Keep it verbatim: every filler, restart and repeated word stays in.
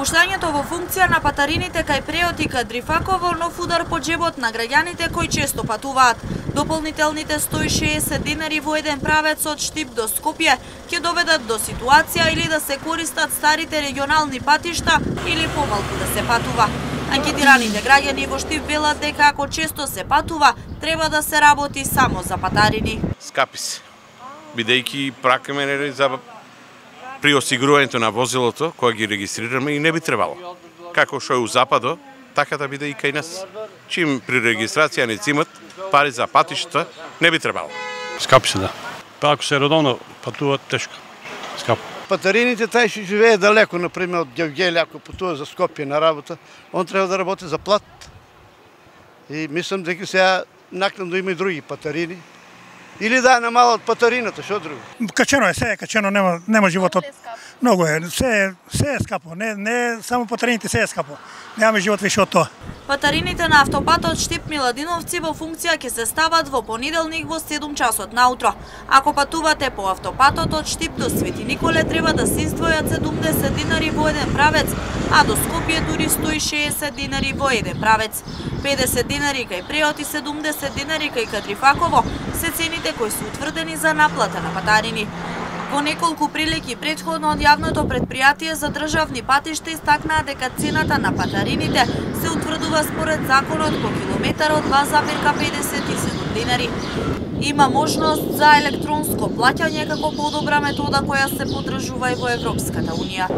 Пуштањето во функција на патарините кај Преот и Кадрифаково нов удар по џебот на граѓаните кои често патуваат. Дополнителните сто и шеесет динари во еден правец од Штип до Скопје ќе доведат до ситуација или да се користат старите регионални патишта или помалку да се патува. Анкетираните граѓани во Штип велат дека ако често се патува, треба да се работи само за патарини. Скапи се, бидејќи пракаме за при осигурувањето на возилото кога ги регистрираме и не би требало. Како што е у Западо, така да биде и кај нас. Чим при регистрација не цимат пари за патишта, не би требало. Скапи се, да. Па ако се редовно патуваат, тешко. Скапо. Патарините тај што живее далеко, например, од Гевгеле, ако патува за Скопје на работа, он треба да работи за плат. И мислам дека сега накнадно има и други патарини. Или да намалат патарината, што друго? Качено е, се е качено, нема нема животот. Многу е, се се е скапо, не не само патарините, се е скапо. Немаме живот више од тоа. Патарините на автопатот Штип Миладиновци во функција ќе се стават во понеделник во седум часот наутро. Ако патувате по автопатот од Штип до Свети Николе, треба да се издвојат седумдесет динари во еден правец, а до Скопје дури сто и шеесет динари во еден правец. педесет динари кај Преот и седумдесет динари кај Кадрифаково се цените кои се утврдени за наплата на патарини. Во неколку прилики претходно од јавното претпријатие за државни патишта истакнаа дека цената на патарините се утврдува според законот по километар од два запирка педесет и седум динари. Има можност за електронско плаќање како подобра метода која се поддржува и во Европската унија.